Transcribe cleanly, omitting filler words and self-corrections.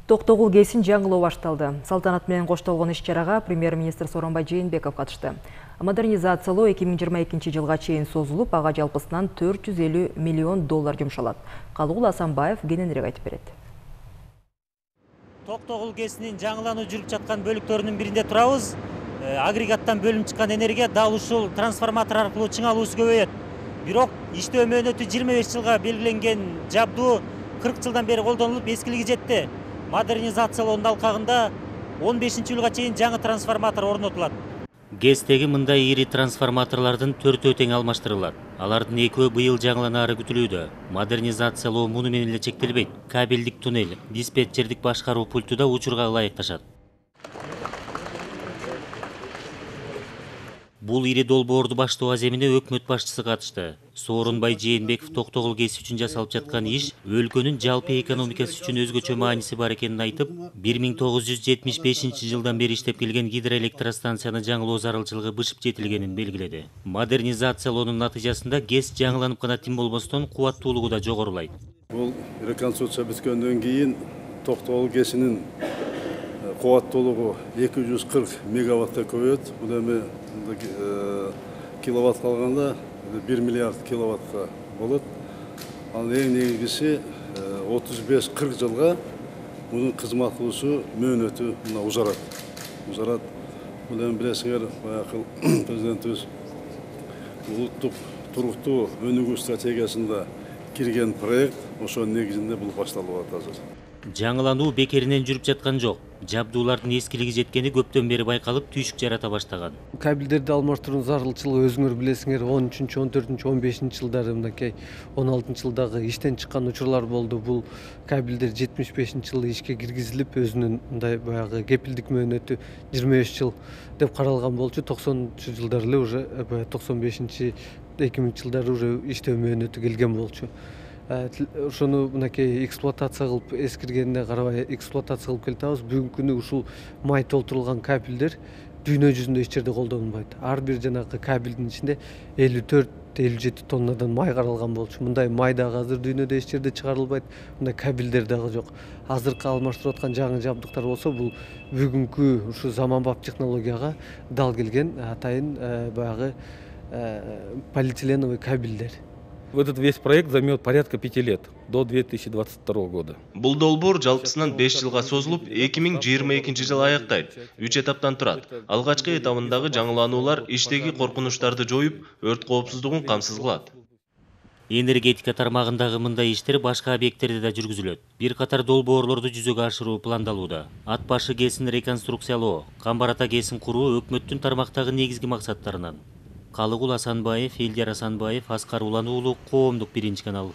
Токтогул ГЭСин жаңылоо башталды. Салтанат менен коштолгон иш-чарага премьер-министр Сооронбай Жээнбеков катышты. Модернизациялоо 2022 жылга чейин созулуп, ага жалпысынан 450 миллион доллар жумшалат. Калыгул Асанбаев кененирээк айтып берет. Токтогул ГЭСинин жаңылануу жүрүп жаткан бөлүктөрүнүн биринде турабыз. Агрегаттан бөлүнүп чыккан энергия дал ушул трансформатор аркылуу чыңалуусу көбөйөт. Бирок иштөө мөөнөтү 25 жылга белгиленген жабдуу 40 жылдан бери колдонулуп эскилиги жетти. Модернизациялоонун алкагында 15-жылга чейин жаңы трансформатор орнотулат. ГЭСтеги мындай ири трансформаторлордун 4-өө тең алмаштырылат. Алардын 2-өө быйыл жаңыланаары күтүлүүдө. Модернизациялоо муну менен эле чектелбейт. Кабелдик туннель, диспетчердик башкаруу пульту да учурга ылайыкташат. Бул ири долбоорду баштоо аземине өкмөт башчысы катышты. Сооронбай Жээнбеков Токтогул ГЭС үчүн жасалып жаткан иш өлкөнүн жалпы экономикасы үчүн өзгөчө мааниси бар экенин айтып, 1975 жылдан бери иштеп келген гидроэлектростанцияны жаңылоо зарылчылыгы бышып жетилгенин белгиледи. Модернизациялоонун натыйжасында ГЭС жаңыланып гана тим болбостон кубаттуулугу да жогорулайт. Бул реконструкция бүткөндөн кийин Токтогул ГЭСинин кубаттуулугу 240 мегаваттка көбөйөт. Бул эми киловатт калганда 1 миллиард киловаттка болот. Ал эң негизгиси 35-40 жылга мунун кызмат кылуусу мөөнөтү узарат. Бул эми билесиңер, баягы президентибиз улуттук туруктуу өнүгүү стратегиясында кирген проект, ошонун негизинде бул башталып атат азыр. Жаңылануу бекеринен жүрүп жаткан жок. Жабдуулардын эскилиги жеткени көптөн бери байкалып, түйшүк жарата баштаган. Кабелдерди алмаштыруу зарылчылыгы өзүңөр билесиңер, 13, 14, 15 жылдары мынакей 16 жылдагы иштен чыккан учурлар болду. Бул кабелдер 75 жылы ишке киргизилип, өзүнүн мындай баягы кепилдик мөөнөтү 25 жыл деп каралган болчу. 90 жылдары эле уже 95 2000 жылдары уже иштөө мөөнөтү келген болчу. Ошону мынакей эксплуатация кылып эскиргенине карабай эксплуатация кылып келатабыз. Бүгүнкү күнү ушул май толтурулган кабелдер дүйнө жүзүндө эч жерде колдонулбайт. Ар бир жанагы кабелдин ичинде 54-57 тоннадан май каралган болчу. Мындай май дагы азыр дүйнөдө эч жерде чыгарылбайт. Мындай кабелдер дагы жок. Азыркы алмаштырып аткан жаңы жабдыктар болсо, бул бүгүнкү ушу заманбап технологияга дал келген атайын баягы полиэтиленовый кабелдер. Этот весь проект займет порядка 5 лет, до 2022 года. Бул долбоор жалпысынан 5 жылга созулуп, 2022 жылы аяктайт. 3 этаптан турат. Алгачкы этабындагы жаңылануулар иштеги коркунучтарды жоюп, өрт коопсуздугун камсыз кылат. Энергетика тармагындагы мындай иштер башка объекттерде да жүргүзүлөт. Бир катар долбоорлорду жүзөгө ашыруу пландалууда. Ат башы ГЭСин реконструкциялоо, Камбар ата ГЭСин куруу өкмөттүн тармактагы негизги максаттарынан. Калыгул Асанбаев, Элдер Асанбаев, Аскар Улан уулу, Коомдук 1 канал.